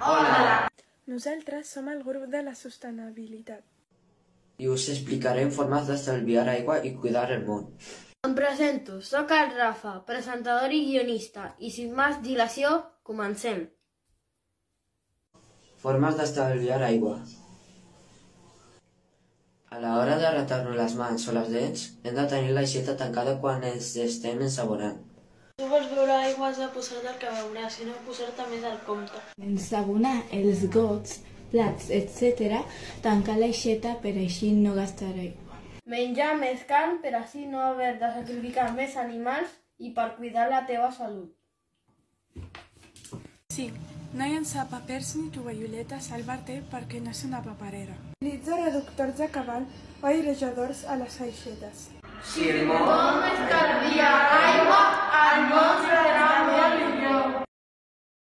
Hola! Nosaltres som el grup de la sostenibilitat. I us explicarem formes d'estalviar aigua i cuidar el món. Em presento, sóc el Rafa, presentador i guionista, i sin més dilació, comencem. Formes d'estalviar aigua. A l'hora de rentar-nos les mans o les dents, hem de tenir l'aixeta tancada quan ens estem ensaborant. Si vols beure aigua has de posar-te el que beuràs, si no posar-te més al compte. Ensabonar els gots, plats, etc. tancar l'aixeta per així no gastar aigua. Menjar més carn per així no haver de sacrificar més animals i per cuidar la teva salut. Sí, no llençar papers ni tovalloletes al vàter perquè no és una paperera. Utilitza reductors de cabal o airejadors a les aixetes. Si el món estalvia aigua, el món serà